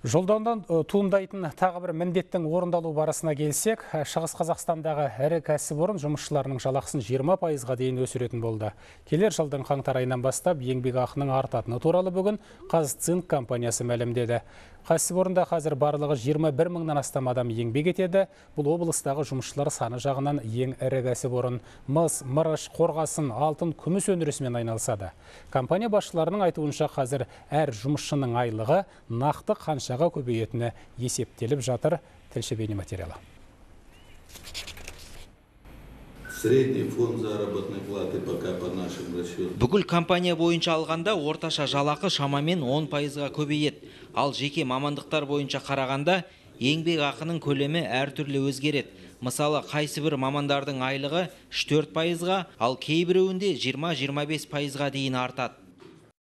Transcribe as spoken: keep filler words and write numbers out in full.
Жолдаудан туындайтын тағы бір міндеттің орындалу барысына келсек, Шығыс Қазақстандағы ірі кәсіпорын жұмысшыларының жалақысын жиырма пайызға дейін өсіретін болды. Келер жылдың қаңтар айынан бастап еңбекақының артатыны туралы бүгін Қазцинк компаниясы мәлімдеді. Кәсіпорында қазір барлығы жиырма бір мыңнан астам адам еңбек етеді. Бұл облыстағы жұмысшылар саны жағынан ең ірі кәсіпорын. Мыс, мырыш, қорғасын, алтын, күміс өндірісімен айналысады. Компания басшыларының айтуынша қазір әр жұмысшының айлығы нақты қаншаға көбейетіні есептеліп жатыр. Тілші бейнематериалы. Средний фонд заработной платы пока по нашим расчетам. Бүкіл компания бойынша алғанда орташа жалақы шамамен он пайызға көбейеді. Ал жеке мамандықтар бойынша қарағанда еңбек ақының көлемі әртүрлі өзгереді. Мысалы, қайсы бір мамандардың айлығы үш төрт пайызға, ал кейбіреуінде жиырма жиырма бес пайызға дейін артады.